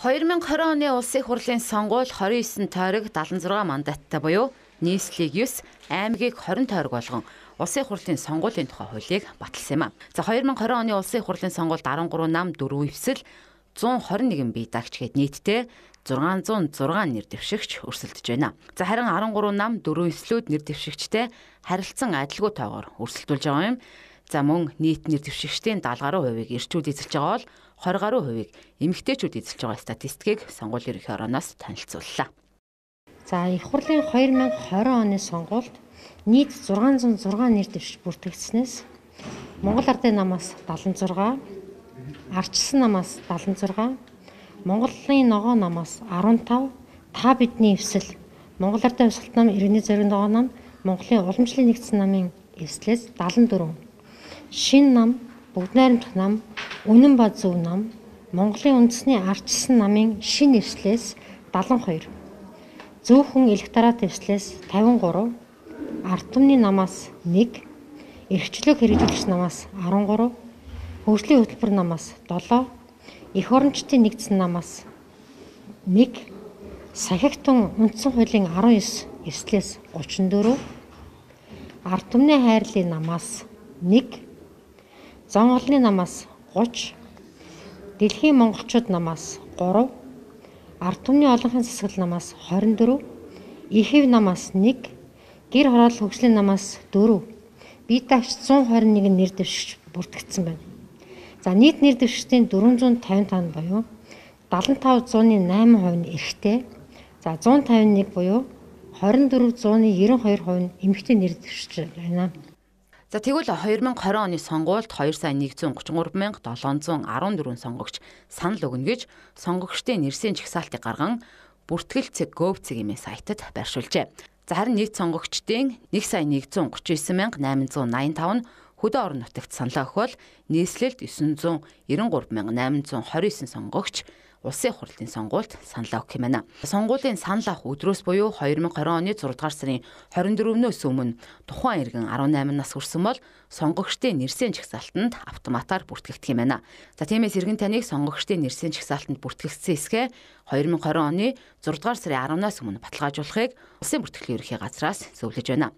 2020 оны улсын их хурлын сонгуул 29 тойрог 76 мандаттай буюу нийслэлийг 9, аймгийг 20 тойрог болгон улсын их хурлын сонгуулийн тухай хуулийг баталсан юм а. За 2020 оны улсын их хурлын сонгуульд 13 нам, 4 эвсэл, 121 бие даагч гээд нийтдээ 606 нэр дэвшигч өрсөлдөж байна. За харин 13 нам, 4 эвслүүд нэр дэвшигчтэй харилцан адилгүй тоогоор өрсөлдүүлж байгаа юм. За мөн нийт нэр дэвшигчдийн 70 гаруй хувийг эрчүүд эзэлж байгаа бол 20 гаруй хувийг эмэгтэйчүүд эзэлж байгаа статистикийг сонгуулийн ерөнхий орооноос танилцууллаа. За их хурлын 2020 оны сонгуульд нийт 606 нэр дэвшигч бүртгэгдснээс Монгол Ардын намаас 76, Ардчилсан намаас 76, Монголын ногоо намаас 15, та бидний эвсэл, Монгол Ардын хувьсгалт нам, иргэний зориг ногоо нам, Монголын уламжлалын нэгдсэн намын эвслээс 74, Шин нам, Бүгд найрамдах нам, Үнэн ба зөв нам, Монголын үндэсний Ардчилсан намын шин эвслээс 72, Зөвхөн электорат эвслээс 53, Ард түмний намаас 1, Эрхчлөөг хэрэгжүүлэгч намаас 13, Хөгжлийн хөтөлбөр намаас 7, Эх орончдын нэгдсэн намаас 1, Сахигтун үндсэн хуулийн 19 эвслээс 34, Ард түмний хайрлын намаас 1, Зон олонны намаас 30, Дэлхийн монголчууд намаас 3, Ард түмний олонхын засаглал намаас 24, Ихэв намаас 1, Гэр хороолол хөгжлийн намаас 4, бие даагч 121 нэр дэвшигч бүртгэгдсэн байна. За нийт нэр дэвшигчдийн 455 буюу 75.8% нь эрэгтэй, за 151 буюу 24.92% нь эмэгтэй нэр дэвшигч байна. За тэгвэл 2020 оны сонгуульд 2,133,714 сонгогч санал өгнө гэж сонгогчдын нэрсийн жагсаалтыг гарган бүртгэл цэг Gov.cg сайтад байршуулжээ. За харин нийт сонгогчдын 1,139,885 нь хөдөө орон нутагт саналаа өгвөл нийслэлд 993,829 сонгогч улсын их хурлын сонгуульд саналаа өгөх юм байна. Сонгуулийн санал авах өдрөөс буюу 2020 оны 6 дугаар сарын 24-өөс өмнө тухайн иргэн 18 нас хүрсэн бол сонгогчдын нэрсийн жагсаалтанд автоматар бүртгэгдэх юм байна. За тиймээс иргэн таныг сонгогчдын нэрсийн жагсаалтанд бүртгэгдсэн эсгээ 2020 оны 6 дугаар сарын 10-наас өмнө баталгаажуулахыг улсын бүртгэлийн ерөнхий газраас зөвлөж байна.